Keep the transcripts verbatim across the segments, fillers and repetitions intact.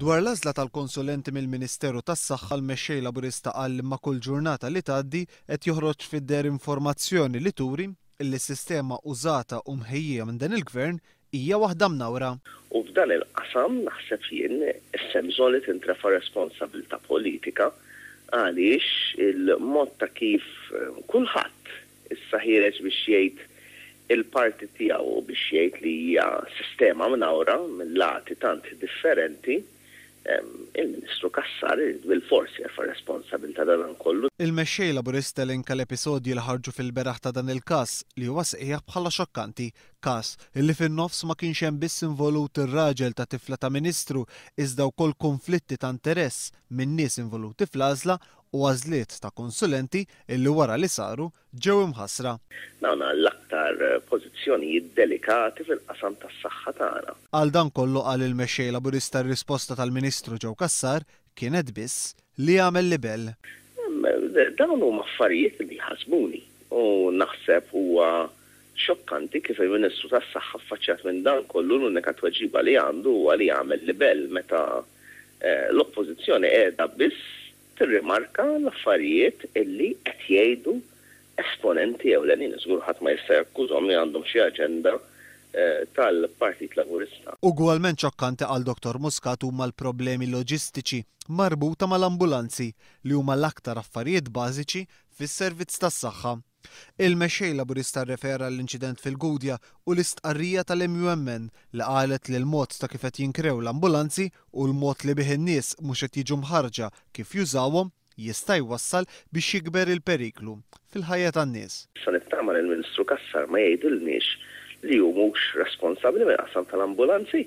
Dwar l-għażla tal-konsulenti mill-Ministeru tas-Saħħa, l-Mexxej Laburista qal li ma' kull ġurnata li tgħaddi qed joħroġ fid-deher informazzjoni li turi li s-sistema użata u mħejjija minn dan il-Gvern hija waħda mnawra. U f'dan il-qasam naħseb jien issa bżonn li tintrefa' responsabilità politika, għaliex il-mod ta' kif kulħadd issa ħiereġ biex jgħid il-parti tiegħu u biex jgħid li hija sistema mnawra minn lati tant differenti, il-Ministru Cassar bil-forsi jerfa' responsabilità dan kollu. Il-Mexxej Laburista elenka l-episodji li ħarġu fil-beraħ ta' dan il-każ li huwa sejjaħ bħala xokkanti, każ illi fin-nofs ma kienx hemm biss involut ir-raġel ta' tifla ta' Ministru iżda wkoll konflitti ta' interess minn nies involuti fl-għażla u għażliet ta' konsulenti illi wara li saru ġew imħassra. Dawn l-aktar pożizzjonijiet delikati fil-qasam tas-saħħa tagħna. Għal dan kollu, qal il-Mexxej Laburista, r-risposta tal-Ministru Joe Cassar kienet biss li għamel libel. Dawn huma affarijiet li ħasbuni u naħseb huwa xokkanti kif il-Ministru tas-Saħħa, affaċċjat minn dan kollu, l-unika tweġiba li għandu huwa li jagħmel libel meta l-oppożizzjoni qiegħda biss tirrimarka l-affarijiet illi qed jgħidu esponenti ewlenin. Żgur ħadd ma jista' jakkużhom li għandhom xi aġenda tal-Partit Laburista. Ugwalment xokkanti, għal Dottor Muscat, huma l-problemi loġistiċi marbuta mal-ambulanzi, li huma l-aktar affarijiet bażiċi fis-servizz tas-saħħa. Il-Mexxej Laburista rrefera l-inċident fil-Gudja u l-istqarrija tal-M U M N li qalet li l-mod ta' kif qed jinkrew l-ambulanzi u l-mod li bih in-nies mhux qed jiġu mħarġa kif jużawhom jista' jwassal biex jikber il-periklu fil-ħajja tan-nies. Sa nittama li l-Ministru Cassar ma jgħidilniex li hu mhux responsabbli mill-qasam tal-ambulanzi.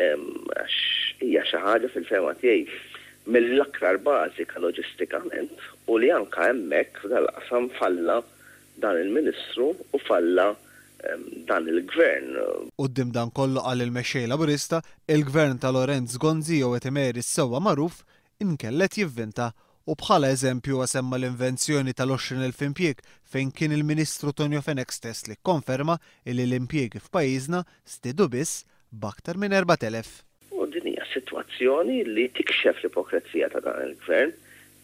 Għax hija xi ħaġa fil-fehma tiegħi mill-aktar bażika loġistikament u li anka hemmhekk f'dal-qasam falla dan il-Ministru u falla dan il-Gvern. Quddiem dan kollu, qal il-Mexxej Laburista, il-Gvern ta' Lawrence Gonzi jew qed imeri s-sewwa magħruf inkella jivvinta, u bħala eżempju semma l-invenzjoni tal-għoxrin elf impjieg, fejn kien il-Ministru Tonio Fenech stess li konferma illi l-impjiegi f'pajjiżna żdiedu biss b'aktar minn erbat elef. U din hija sitwazzjoni li tikxef l-ipokrezija ta' dan il-gvern,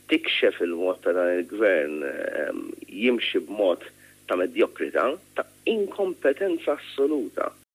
tikxef il-mod ta' dan il-gvern jimxi b'mod ta' medjokrità, ta' inkompetenza assoluta.